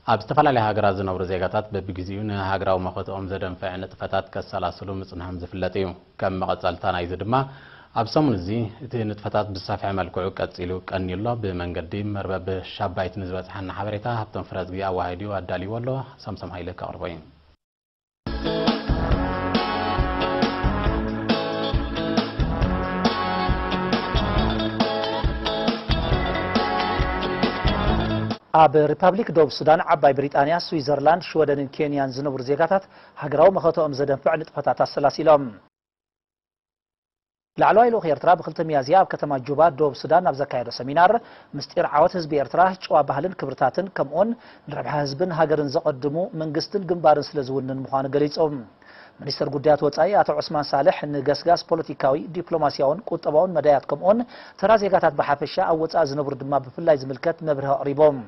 ኣብ ዝተፈላለያ ሃገራት ዝነብሩ ዜጋታት በብግዜኡ ንሃገራዊ መኸተኦም ዘደንፍዕ ንጥፈታት ከሰላስሉ ምጽንሖም ዝፍለጥ እዩ። ከም መቐጸልታ ናይዚ ድማ፣ ኣብ ሰሙን እዚ እቲ ንጥፈታት ብዝሰፍሐ መልክዑ ቀጺሉ ቀንዩ ኣሎ። ብመንገዲ መርበብ ሻባይት ንዝበጽሓና ሓበሬታ ሃብቶም ፍረዝጊ ኣዋሂዱ ኣዳልይዎ ኣሎ። ሳምሶም ሃይለ ከቕርቦ እዩ። ኣብ ሪፓብሊክ ደቡብ ሱዳን፣ ዓባይ ብሪጣንያ፣ ስዊዘርላንድ፣ ሽወደንን ኬንያን ዝነብሩ ዜጋታት ሃገራዊ መኸተኦም ዘደንፍዕ ንጥፈታት ኣሰላሲሎም። ላዕለዋይ ልኡኽ ኤርትራ ብክልተ ሚያዝያ ኣብ ከተማ ጁባ ደቡብ ሱዳን ኣብ ዘካየዶ ሰሚናር፣ ምስጢር ዓወት ህዝቢ ኤርትራ ጨዋ ባህልን ክብርታትን ከምኡውን ንረብሓ ህዝብን ሃገርን ዘቐድሙ መንግስትን ግንባርን ስለ ዝውንን ምዃኑ ገሊጹ። ሚኒስተር ጉዳያት ወጻኢ ኣቶ ዑስማን ሳልሕ ንገስጋስ ፖለቲካዊ፣ ዲፕሎማስያውን ቁጠባውን መዳያት ከምኡውን ተራ ዜጋታት ብሓፈሻ ኣብ ወጻኢ ዝነብሩ ድማ ብፍላይ ዝምልከት መብርሂ ኣቕሪቦም።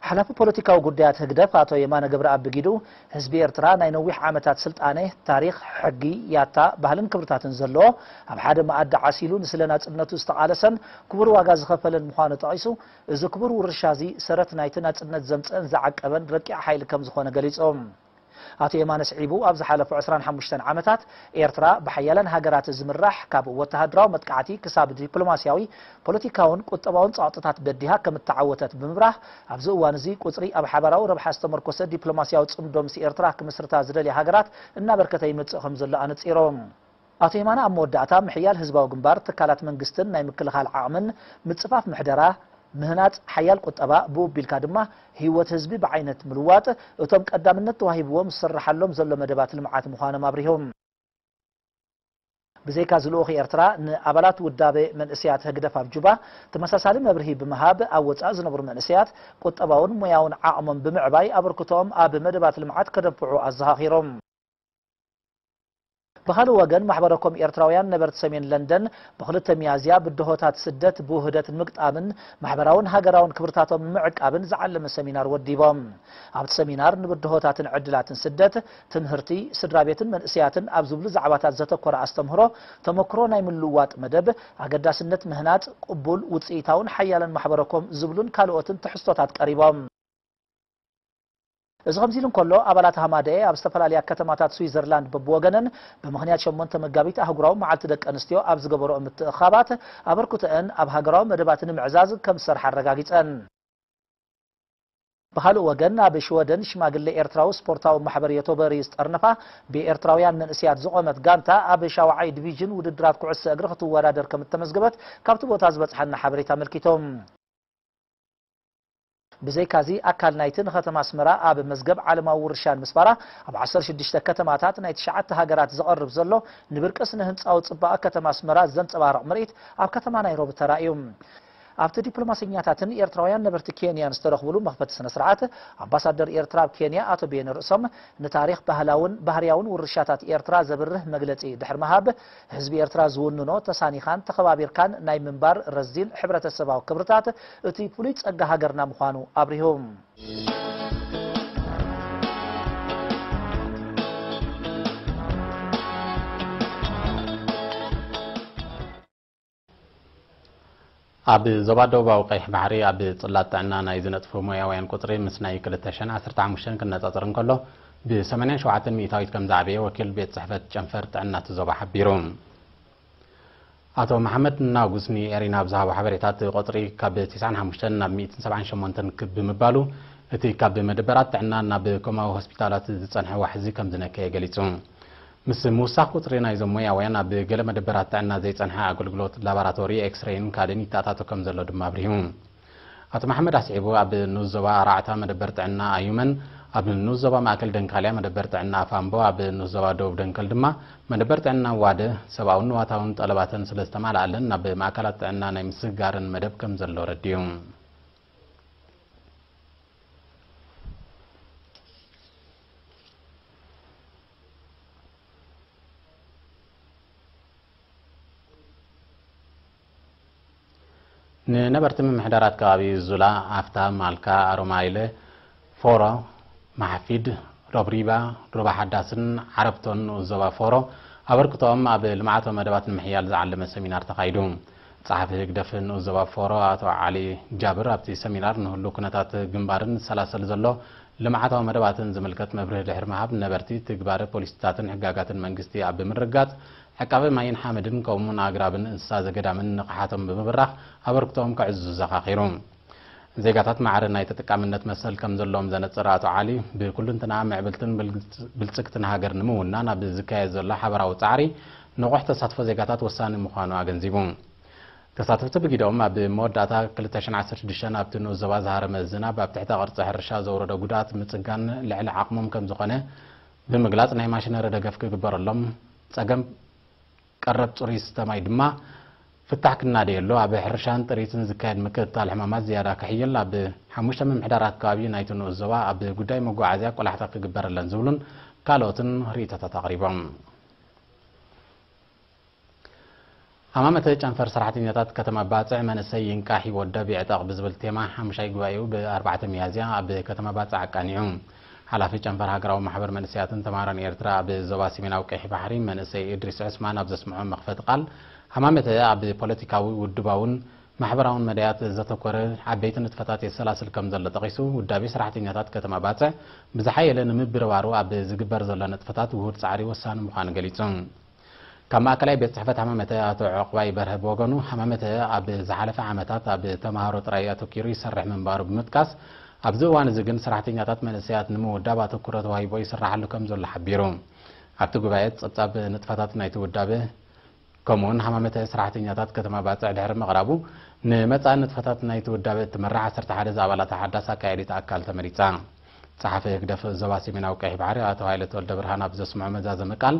ሓላፊ ፖለቲካዊ ጉዳያት ህግደፍ ኣቶ የማነ ገብረኣብ ብጊዱ፣ ህዝቢ ኤርትራ ናይ ነዊሕ ዓመታት ስልጣነ፣ ታሪኽ፣ ሕጊ፣ ያታ፣ ባህልን ክብርታትን ዘለዎ፣ ኣብ ሓደ መኣዲ ዓሲሉ ንስለ ናጽነቱ ዝተቓለሰን ክቡር ዋጋ ዝኸፈለን ምዃኑ ጠቒሱ፣ እዚ ክቡር ውርሻ እዚ ሰረት ናይቲ ናጽነት ዘምጽአን ዝዓቀበን ረቂቕ ሓይሊ ከም ዝኾነ ገሊጹ። ኣቶ የማነ ስዒቡ፣ ኣብ ዝሓለፉ ዕስራን ሓሙሽተን ዓመታት ኤርትራ ብሓያለን ሃገራት ዝምራሕ፣ ካብ ወተሃደራዊ መጥቃዕቲ ክሳብ ዲፕሎማስያዊ፣ ፖለቲካውን ቁጠባውን ጸቕጥታት በዲሃ ከም እተዓወተት ብምብራህ፣ ኣብዚ እዋን እዚ ቁጽሪ ኣብ ሓባራዊ ረብሓ ዝተመርኮሰ ዲፕሎማስያዊ ጽምዶ ምስ ኤርትራ ክምስርታ ዝደልያ ሃገራት እናበርከተ ይመጽእ ከም ዘሎ ኣነጺሮም። ኣቶ የማነ ኣብ መወዳእታ፣ ምሕያል ህዝባዊ ግንባር፣ ትካላት መንግስትን ናይ ምክልኻል ዓቕምን፣ ምጽፋፍ ምሕደራ፣ ምህናጽ ሓያል ቁጠባ፣ ብኡ ኣቢልካ ድማ ህይወት ህዝቢ ብዓይነት ምልዋጥ፣ እቶም ቀዳምነት ተዋሂብዎም ዝስርሓሎም ዘሎ መደባት ልምዓት ምዃኖም ኣብሪሆም። ብዘይካ እዚ ልኡኽ ኤርትራ፣ ንኣባላት ውዳበ መንእሰያት ህግደፍ ኣብ ጁባ ተመሳሳሊ መብርሂ ብምሃብ፣ ኣብ ወጻኢ ዝነብሩ መንእሰያት ቁጠባውን ሞያውን ዓቕሞም ብምዕባይ፣ ኣበርክቶኦም ኣብ መደባት ልምዓት ከደንፍዑ ኣዘኻኺሮም። ብኻልእ ወገን፣ ማሕበረኮም ኤርትራውያን ነበርቲ ሰሜን ለንደን፣ ብክልተ ሚያዝያ ብድሆታት ስደት ብውህደት ንምግጣምን ማሕበራውን ሃገራውን ክብርታቶም ንምዕቃብን ዝዓለመ ሰሚናር ወዲቦም። ኣብቲ ሰሚናር፣ ንብድሆታትን ዕድላትን ስደት፣ ትምህርቲ፣ ስድራ ቤትን መንእሰያትን ኣብ ዝብሉ ዛዕባታት ዘተኮረ ኣስተምህሮ፣ ተመክሮ ናይ ምልውዋጥ መደብ፣ ኣገዳስነት ምህናጽ ቅቡል፣ ውጽኢታውን ሓያልን ማሕበረኮም ዝብሉን ካልኦትን ትሕዝቶታት ቀሪቦም። እዚ ከምዚ ኢሉ እንከሎ፣ ኣባላት ሃማደኤ ኣብ ዝተፈላለያ ከተማታት ስዊዘርላንድ በብወገነን ብምኽንያት ሸሞንተ መጋቢት ኣህጉራዊ መዓልቲ ደቂ ኣንስትዮ ኣብ ዝገበረኦ ምትእኽኻባት፣ ኣበርክቶአን ኣብ ሃገራዊ መደባት ንምዕዛዝ ከም ዝሰርሓ ኣረጋጊጸን። ብኻልእ ወገን፣ ኣብ ሽወደን ሽማግለ ኤርትራዊ ስፖርታዊ ማሕበር ዮቶበሪ ዝጠርነፋ ብኤርትራውያን መንእሰያት ዝቖመት ጋንታ፣ ኣብ ሻውዓይ ዲቪዥን ውድድራት ኩዕሶ እግሪ ክትወዳደር ከም እተመዝገበት ካብቲ ቦታ ዝበጽሓና ሓበሬታ ኣመልኪቶም። ብዘይካዚ፣ ኣካል ናይቲ ንከተማ ኣስመራ ኣብ መዝገብ ዓለማዊ ውርሻ ንምስፋራ፣ ኣብ ዓሰርተ ሽዱሽተ ከተማታት ናይ ትሽዓተ ሃገራት ዝቐርብ ዘሎ፣ ንብርቂ ስነ ህንጻዊ ጽባቐ ከተማ ኣስመራ ዘንጸባርቕ ምርኢት ኣብ ከተማ ናይሮቢ ተራእዩ። ኣብቲ ዲፕሎማሰኛታትን ኤርትራውያን ነበርቲ ኬንያን ዝተረኽብሉ መኽፈቲ ስነ ስርዓት፣ ኣምባሳደር ኤርትራ ኣብ ኬንያ ኣቶ ቤነ ርእሶም፣ ንታሪኽ፣ ባህላውን ባህርያውን ውርሻታት ኤርትራ ዘብርህ መግለጺ ድሕሪ ምሃብ፣ ህዝቢ ኤርትራ ዝውንኖ ተሳኒኻን ተኸባቢርካን ናይ ምንባር ረዚን ሕብረተሰባዊ ክብርታት እቲ ፍሉይ ጸጋ ሃገርና ምዃኑ ኣብሪሁ። ኣብ ዞባ ደቡባዊ ቀይሕ ባሕሪ ኣብ ጽላት ጥዕና ናይ ዝነጥፉ ሞያውያን ቁጽሪ ምስ ናይ ክልተ ሽሕን ዓሰርተ ሓሙሽተን ክነጻጸር እንከሎ፣ ብ ሰማንያን ሸውዓተን ሚእታዊት ከም ዝዓበየ ወኪል ቤት ጽሕፈት ጨንፈር ጥዕና እቲ ዞባ ሓቢሩ። ኣቶ መሓመድ ናጉስ ንኤሪና ኣብ ዝሃቦ ሓበሬታ፣ እቲ ቁጽሪ ካብ ተስዓን ሓሙሽተን ናብ ሚእትን ሰብዓን ሸሞንተን ክብ ብምባሉ፣ እቲ ካብ መደበራት ጥዕና ናብ ኮማዊ ሆስፒታላት ዝጸንሐ ዋሕዚ ከም ዝነከየ ገሊጹ። ምስ ምውሳኽ ቁጽሪ ናይዞም ሞያውያን፣ ኣብ ገለ መደበራት ጥዕና ዘይጸንሐ ኣገልግሎት ላቦራቶሪ፣ ኤክስሬይን ካልእን ይተኣታቶ ከም ዘሎ ድማ ኣብሪሁ። ኣቶ መሓመድ ኣስዒቡ፣ ኣብ ንኡስ ዞባ ኣርባዕታ መደበር ጥዕና ኣዩመን፣ ኣብ ንኡስ ዞባ ማእከል ደንካልያ መደበር ጥዕና ኣፋምቦ፣ ኣብ ንኡስ ዞባ ደቡብ ደንከል ድማ መደበር ጥዕና ዋደ ሰብኣውን ንዋታውን ጠለባተን ስለ ዝተማልኣለን፣ ናብ ማእከላት ጥዕና ናይ ምስግጋረን መደብ ከም ዘሎ ረዲኡ። ንነበርቲ ምምሕዳራት ከባቢ ዙላ፣ ኣፍታ፣ ማልካ፣ ኣሮማይለ፣ ፎሮ፣ ማሓፊድ፣ ሮብሪባ፣ ሩባ ሓዳስን ዓረብቶን ንኡስ ዞባ ፎሮ ኣበርክቶኦም ኣብ ልምዓታዊ መደባት ንምሕያል ዝዓለመ ሰሚናር ተኻይዱ። ጸሓፊ ህግደፍ ንኡስ ዞባ ፎሮ ኣቶ ዓሊ ጃብር ኣብቲ ሰሚናር ንህሉ ኩነታት ግንባርን ዝሰላሰል ዘሎ ልምዓታዊ መደባትን ዝምልከት መብርሂ ድሕሪ ምሃብ፣ ነበርቲ ትግባረ ፖሊሲታትን ሕጋጋትን መንግስቲ ኣብ ብምርጋጽ፣ ዕቃበ ማይን ሓመድን ከምኡውን ኣግራብን እንስሳ ዘገዳምን ንቕሓቶም ብምብራኽ ኣበርክቶኦም ከዕዝዙ ዘኻኺሩ። ዜጋታት ማዕረ ናይ ተጠቃምነት መሰል ከም ዘለዎም ዘነጽረ ኣቶ ዓሊ፣ ብኩሉንትና ምዕብልትን ብልጽ-፣ ብልጽግትን ሃገር ንምውናን ኣብ ዝካየድ ዘሎ ሓበራዊ ጻዕሪ ንቑሕ ተሳትፎ ዜጋታት ወሳኒ ምዃኑ ኣገንዚቡ። ተሳተፍቲ ብጊዶም ኣብ መወዳእታ ክልተ ሽሕን ዓሰርተ ሽዱሽተን ኣብቲ ንኡስ ዞባ ዝሃረመ ዝናብ ኣብ ትሕተ ቅርጺ ሕርሻ ዘውረዶ ጉድኣት ምጽጋን ልዕሊ ዓቕሞም ከም ዝኾነ ብምግላጽ፣ ናይ ማሽነሪ ደገፍ ክግበረሎም፣ ጸገም ቀረብ ጽሩይ ዝስተ ማይ ድማ ፍታሕ ክናደየሉ፣ ኣብ ሕርሻን ጥሪትን ዝካየድ ምክትታል ሕማማት ዝያዳ ክሕይል፣ ኣብ ሓሙሽተ ምምሕዳራት ከባቢ ናይቲ ንኡስ ዞባ ኣብ ጉዳይ መጓዓዝያ ቆላሕታ ክግበረለን ዝብሉን ካልኦትን ርእይቶታት ኣቕሪቦም። ሃማመተ ጨንፈር ሰራሕተኛታት ከተማ ባጽዕ መንእሰይ ይንቃሕ ይወደብ ይዕጠቕ ብዝብል ቴማ ሓሙሻይ ጉባኤኡ ብ ኣርባዕተ ሚያዝያ ኣብ ከተማ ባጽዕ ኣቃኒዑ። ሓላፊ ጨንፈር ሃገራዊ ማሕበር መንእሰያትን ተማሃሮን ኤርትራ ኣብ ዞባ ሰሜናዊ ቀይሕ ባሕሪ መንእሰይ እድሪስ ዑስማን ኣብ ዘስምዖ መኽፈቲ ቃል፣ ሃማመተ ኣብ ፖለቲካዊ፣ ውድባውን ማሕበራውን መዳያት ዘተኮረ ዓበይቲ ንጥፈታት የሰላስል ከም ዘሎ ጠቒሱ፣ ውዳቤ ሰራሕተኛታት ከተማ ባጽዕ ብዝሓየለ ንምብርባሩ ኣብ ዝግበር ዘሎ ንጥፈታት ውሁድ ጻዕሪ ወሳኒ ምዃኑ ገሊጹ። ካብ ማእከላይ ቤት ጽሕፈት ሃማመተ ኣቶ ዕቑባይ በርሀ ብወገኑ፣ ሃማመተ ኣብ ዝሓለፈ ዓመታት ኣብ ተማሃሮ ጥራይ ኣተኪሩ ይሰርሕ ምንባሩ ብምጥቃስ፣ ኣብዚ እዋን እዚ ግን ሰራሕተኛታት መንእሰያት ንምውዳብ ኣተኩሮ ተዋሂቦ ይስራሓሉ ከም ዘሎ ሓቢሩ። ኣብቲ ጉባኤ ጸብጻብ ንጥፈታት ናይቲ ውዳበ ከምኡውን ሃማመተ ሰራሕተኛታት ከተማ ባጽዕ ድሕሪ ምቕራቡ፣ ንመጻኢ ንጥፈታት ናይቲ ውዳበ እትመርሕ ዓሰርተ ሓደ ዝኣባላታ ሓዳስ ኣካያዲት ኣካል ተመሪጻ። ጸሓፊ ህግደፍ ዞባ ሰሜናዊ ቀይሕ ባሕሪ ኣቶ ሃይለ ተወልደ ብርሃን ኣብ ዘስምዖ መዛዘሚ ቃል፣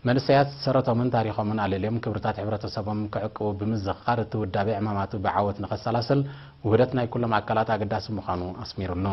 መንእሰያት ሰረቶምን ታሪኾምን ኣለልዮም ክብርታት ሕብረተሰቦም ክዕቅቡ ብምዝኽኻር፣ እቲ ውዳቤ ዕማማቱ ብዓወት ንኸሰላስል ውህደት ናይ ኩሎም ኣካላት ኣገዳሲ ምዃኑ ኣስሚሩሉ።